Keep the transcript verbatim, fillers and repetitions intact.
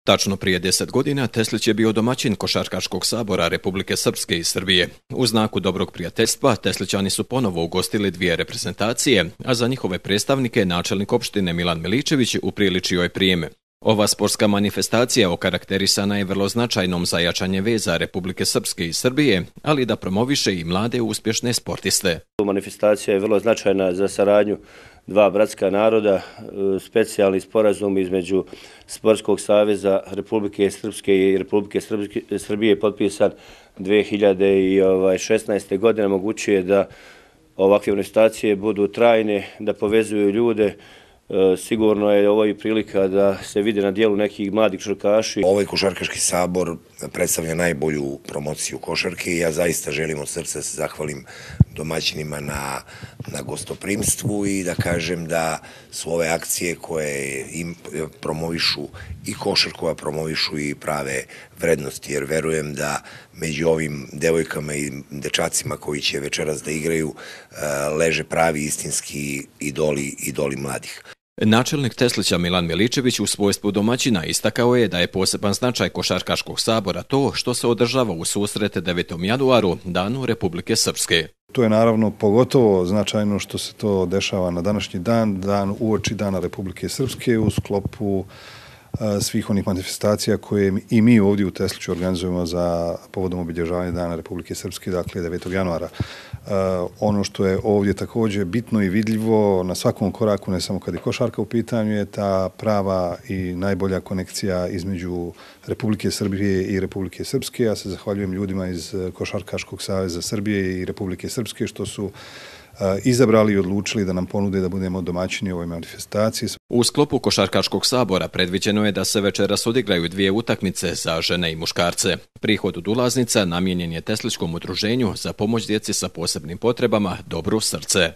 Tačno prije deset godina Teslić je bio domaćin Košarkaškog sabora Republike Srpske i Srbije. U znaku dobrog prijateljstva Teslićani su ponovo ugostili dvije reprezentacije, a za njihove predstavnike načelnik opštine Milan Miličević upriličio je prijem. Ova sportska manifestacija okarakterisana je vrlo značajnom za jačanje veza Republike Srpske i Srbije, ali da promoviše i mlade uspješne sportiste. Manifestacija je vrlo značajna za saradnju dva bratska naroda, specijalni sporazum između Sportskog saveza Republike Srpske i Republike Srbije potpisan dve hiljade šesnaeste. godine omogućuje da ovakve manifestacije budu trajne, da povezuju ljude. Sigurno je ovo i prilika da se vide na dijelu nekih mladih košarkaši. Ovaj košarkaški sabor predstavlja najbolju promociju košarke i ja zaista želim od srca se zahvalim domaćinima na, na gostoprimstvu i da kažem da su ove akcije koje im promovišu i košarku, a promovišu i prave vrednosti, jer verujem da među ovim devojkama i dečacima koji će večeras da igraju leže pravi istinski idoli, idoli mladih. Načelnik Teslića Milan Miličević u svojstvu domaćina istakao je da je poseban značaj Košarkaškog sabora to što se održava u susret devetom januaru, Danu Republike Srpske. To je naravno pogotovo značajno što se to dešava na današnji dan, dan uoči Dana Republike Srpske u sklopu svih onih manifestacija koje i mi ovdje u Tesliću organizujemo za povodom obilježavanja Dana Republike Srpske, dakle devetog januara. Ono što je ovdje također bitno i vidljivo na svakom koraku, ne samo kad je košarka u pitanju, je ta prava i najbolja konekcija između Republike Srbije i Republike Srpske. Ja se zahvaljujem ljudima iz Košarkaškog saveza Srbije i Republike Srpske što su izabrali i odlučili da nam ponude da budemo domaćini ovoj manifestaciji. U sklopu Košarkaškog sabora predviđeno je da se večeras odigraju dvije utakmice za žene i muškarce. Prihod od ulaznica namijenjen je Teslićkom udruženju za pomoć djeci sa posebnim potrebama Dobro srce.